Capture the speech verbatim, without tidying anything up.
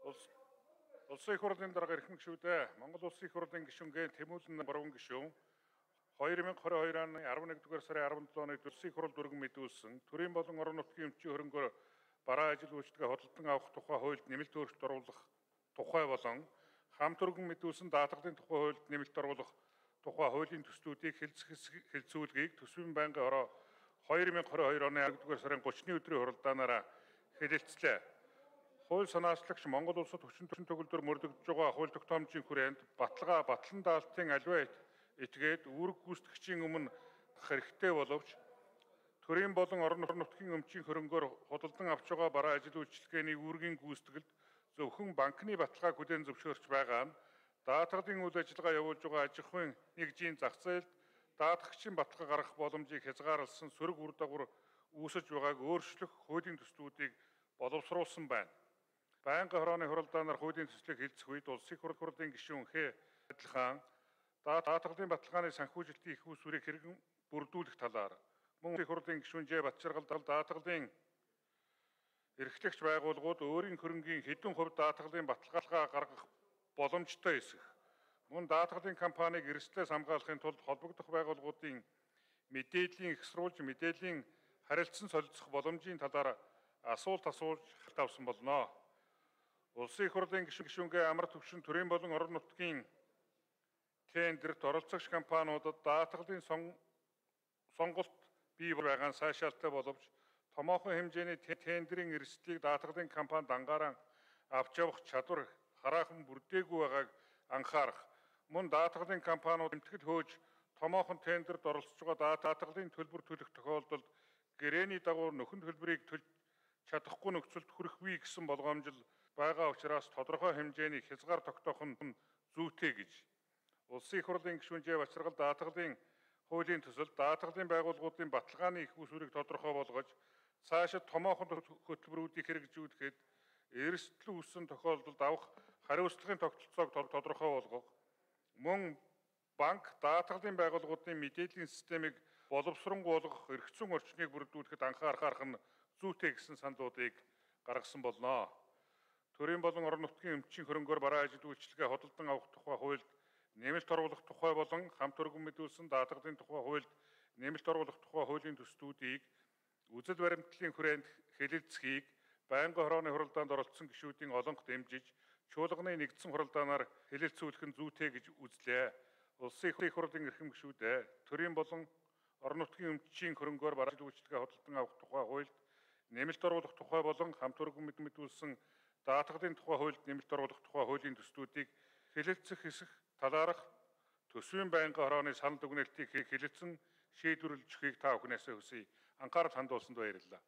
Улс Улсын их хурлын дарга эрхэм гишүүдээ Монгол Улсын их хурлын гишүүнгээ Тэмүүлэн Боргон гишүүн хоёр мянга хорин хоёр оны арван нэгдүгээр сарын арван долоо өнөд Улсын их хурл дүргэн мэдүүлсэн төрийн болон орон нутгийн өмчийн хөрөнгөөр бараа ажил үйлчлэгээ хөдөлгөн авах тухай хуульд нэмэлт өөрчлөлт оруулах тухай болон хамт өргөн мэдүүлсэн даатгалын тухай хуульд нэмэлт оруулах тухай хуулийн төслүүдийг хэлэлцүүлгийг төсвийн байнгын хороо хоёр мянга хорин хоёр оны нэгдүгээр сарын гуравны өдрийн хуралдаанаараа хэлэлцлээ. Хууль санаачлагч Монгол улсад хүчин төгөлдөр мөрдөгдөж байгаа хууль тогтоомжийн хүрээнд баталгаа батлан даалтын аливаа этгээд үүрэг гүйцэтгэгчийн өмнө хэрэгтэй боловч төрийн болон орон нутгийн өмчийн хөрөнгөөр худалдан авч байгаа бараа ажил үйлчилгээний үүргийн гүйцэтгэлд зөвхөн банкны баталгааг хүлээн зөвшөөрч байгаа нь даатгалын үйл ажиллагаа явуулж байгаа аж ахуйн нэгжийн зах зээлд даатгагчийн баталгаа гаргах боломжийг хязгаарласан сөрөг үр дагавар үүсэж байгааг өөрчлөх хуулийн төслүүдийг боловсруулсан байна. Байнгын хорооны хуралдаанаар хуулийн төслийг хэлцэх үед Улсын их хурлын гишүүн Х. Адилхан даатгалын баталгааны санхүүжилтийн их усүрийг хэрэгэн бүрдүүлэх талаар мөн их хурлын гишүүн Ж. Батчаргал даатгалын эрхлэгч байгууллагууд өөрийн хөрөнгийн хэдэн хувь даатгалын баталгаа гаргах боломжтой эсэх мөн даатгалын компанийг эрсдлээс хамгаалахын тулд холбогдох байгууллагуудын мэдээллийн ихсруулж мэдээллийн харилцан солилцох боломжийн талаар асуулт асууж тавьсан болно. Улсын их хурлын гишүүнгээ амар түвшин төрийн болон орон нутгийн тендерт оролцогч компаниудад даатгалын сонголт бий байгаа нь сайшаалтай боловч томоохон хэмжээний тендерийн эрсдлийг даатгалын компанид анхааран авч явах чадвар хараахан бүрдээгүй байгааг анхаарах мөн даатгалын компаниуд эмтгэл хөөж томоохон тендерт оролцож байгаа даатгалын төлбөр төлөх тохиолдолд гэрээний дагуу нөхөн төлбөрийг төлж чадахгүй нөхцөлд хүрэхгүй гэсэн болгоомжил байгаа учраас тодорхой хэмжээний хязгаар тогтоох нь зүйтэй гэж Улсын их хурлын гишүүн Ж. Батчаргал даатгалын хуулийн төсөл даатгалын байгууллагуудын баталгааны их усүрийг тодорхой болгож цаашид томоохон хөтөлбөрүүдийг хэрэгжүүлэхэд эрсдэл үүссэн тохиолдолд авах хариуцлагын тогтолцоог тодорхой болгох мөн банк даатгалын байгууллагуудын мэдээллийн системийг боловсронгуй болгох эрх зүйн орчныг бүрдүүлэхэд анхаарах нь зүйтэй гэсэн саналуудыг гаргасан болно. Төрийн болон орон нутгийн өмчийн хөрөнгөөр бараа ажил үйлчилгээ хөдөлгөн авах тухай хуульд нэмэлт оруулах тухай болон хамт өргөн мэдүүлсэн даатгалын тухай хуульд нэмэлт оруулах тухай хуулийн төслүүдийг үзэл баримтлалын хүрээнд хэлэлцэхийг байнгын хорооны хуралдаанд оролцсон гишүүдийн олонх дэмжиж чуулганы нэгдсэн хуралдаанаар хэлэлцүүлэх нь зүйтэй гэж үзлээ. Улсын их хурлын эрхэм гишүүдээ төрийн болон орон нутгийн өмчийн хөрөнгөөр бараа ажил үйлчилгээ хөдөлгөн авах тухай хуульд нэмэлт оруулах тухай болон хамт өргөн мэдүүлсэн даатгалын тухай хуульд нэмэлт оруулах тухай хуулийн төслүүдийг хэлэлцэх хэсэх талаарх төсвийн байнгын хорооны санал дүгнэлтийг хэлэлцэн шийдвэрлэж өгөхийг та бүхнээсээ хүсье. Анхаарал хандуулсанд баярлалаа.